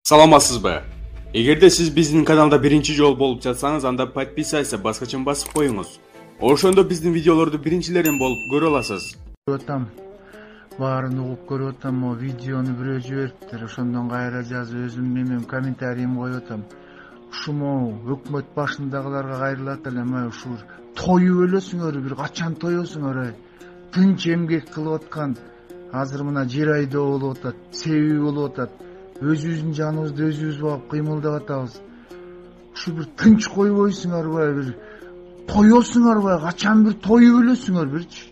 Саламатсызбы? Эгерде сиз биздин каналда биринчи жолу болуп жатсаңыз, анда подписаться баскычын басып коюңуз. Ошондо биздин видеолорду биринчилерден болуп көрө аласыз. Баарын угуп көрүп атам, видеону бирөө жибериптир. Ошондон кайра жазып өзүм эмен комментарийим коюп атам. Ушуму өкмөт башындагыларга кайрылат элем, ушу тоюп өлөсүңөр, бир качан тоесуңөр, тынч эмгек кылып аткан. Азыр мына жер айдоо болуп атат, себеби болуп атат. Өзүбүздүн жаныбызды өзүбүз багып кыймылдап атабыз. Ушу бир тынч койбойсуңарбы, бир тоесуңарбы, качан бир тоюп өлөсүңөр бирчи.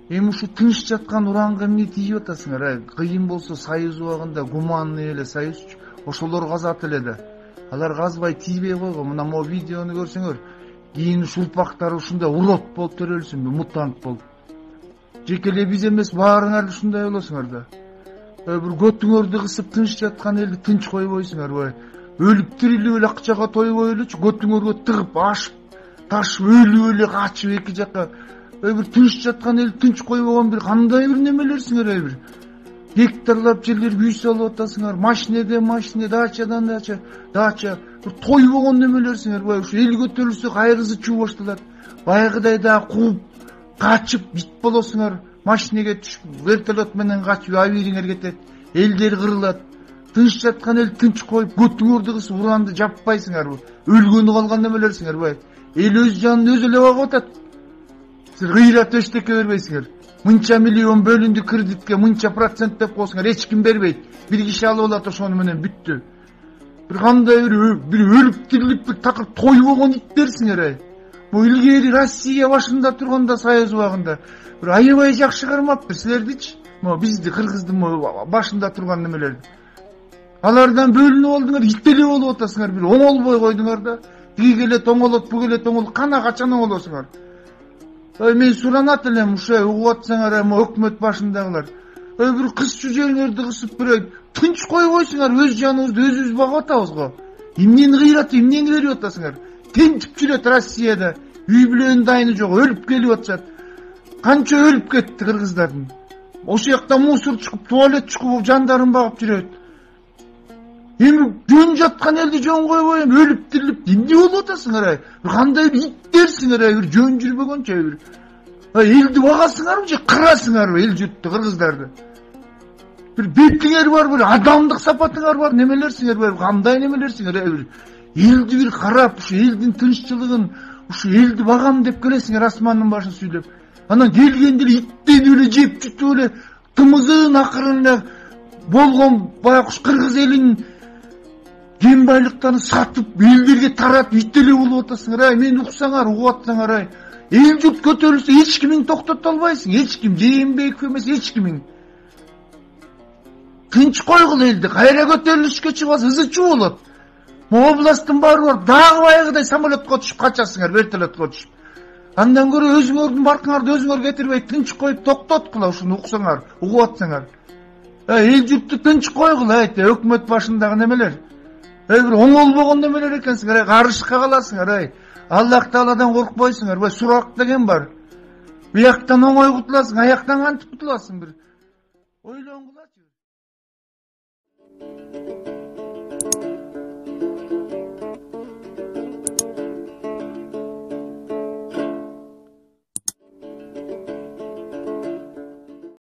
Эми ушу тынч жаткан уранга эмне тийип атасыңар? Кыйын болсо союз убагында гуманный эле союз, ошолор казат эле да. Алар казбай тийбей койгон. Мына могу видеону көрсөңөр, кийин урпактары ушундай урод болуп төрөлсүнбү, мутант болуп. Жеке эле биз эмес, баарыңар ушундай болосуңар да. Бир көтүңөрдү кысып тынч жаткан элди тынч койбойсуңарбы? Өлүп тирилип эле акчага тойбой элечи, көтүңөргө тыгып, ашып, ташып, өлүп эле качып эки жакка. Бир тынч жаткан эл тынч койбогон бир кандай бир немелерсиңер, бир гектарлап жерлер күй салып атасыңар, машинеден машине, дачадан дача, бир тойбогон немелерсиңер. Ушу эл көтөрүлсө кайрысы чуу башталат. Байгыдай да кууп, качып бит болосуңар, машинеге түшүп, вертолет менен качып, авириңер кетет, элдер кырылат. Тынч жаткан эл тынч коюп, көтүңөрдү кысып, уранды жаппайсыңарбы? Өлгөнү калган немелерсиңер. Эл өз жанын өзү эле багып атат. Гыйрат эчтеке бербейсиңер. Мынча миллион бөлүндү кредитке, мынча процент деп коесуңар, эч ким бербейт. Бир киши алып алат, ошону менен бүттү. Бир кандай бир өлүп тирилип бир такыр тойбогон иттерсиңер. Бул илгери Россия башында турганда, союз убагында бир аябай жакшы кармаптыр силердичи. Могу бизди, кыргыздын башында турган немелерди. Алардан бөлүнүп алдыңар, ит эле болуп атасыңар, бир оңолбой койдуңар да. Тиги келет оңолот, бу келет оңолот, кана качан оңолосуңар? Мен суранат элем, ушу угуп атсаңар, өкмөт башындагылар. Бир кыз чүжөңөрдү кысып бир тынч койбойсуңар, өз жаныбызды өзүбүз багып атабыз го. Эмнени кыйрат, эмнени берип атасыңар? Тентип жүрөт Россияда, үй бүлөнүн дайыны жок, өлүп келип атышат. Канча өлүп кетти кыргыздардын. Ошол жакта мусор чыгып, туалет чыгып, жандарын багып жүрөт. Эми жөн жаткан элди жөн койбой, өлүп тирилип, эмне болуп атасыңар? Кандай бир иттерсиңер, бир жөн жүрбөгөнчө бир. Элди багасыңарбы же кырасыңарбы эл журтту, кыргыздарды? Бир бетиңер бар, бир адамдык сапатыңар бар, немелерсиңер, кандай немелерсиңер? Элди бир карап, ушу элдин тынччылыгын, ушу элди багам деп келесиңер, асмандын башын сүйлөп. Анан келгенде эле иттенип эле жеп жүтүп эле тымызын акырын эле болгон баягы кыргыз элинин кен байлыктарын сатып, элдерге таратып, ит эле болуп атасыңар. Мени уксаңар, угуп атсаңар, эл журт көтөрүлсө эч кимиң токтото албайсың. Эч ким, Жээнбеков эмес, эч кимиң. Тынч койгул элди, кайра көтөрүлүшкө чыгабыз, ызычуу болот. Областтын баары бар, дагы байгыдай самолетко түшүп качасыңар, вертолетко түшүп. Андан көрө өзүңөрдүн баркыңарды өзүңөр кетирбей, тынч коюп токтоткула, ушуну уксаңар, угуп атсаңар. Эл журтту тынч койгул, өкмөт башындагы немелер. Бир оңолбогон немелер экенсиңер, карышка каласыңар. Аллах Тааладан коркпойсуңар, сурак деген бар. Бияктан оңой кутуласың, аяктан кантип кутуласың бир? Ойлонгула.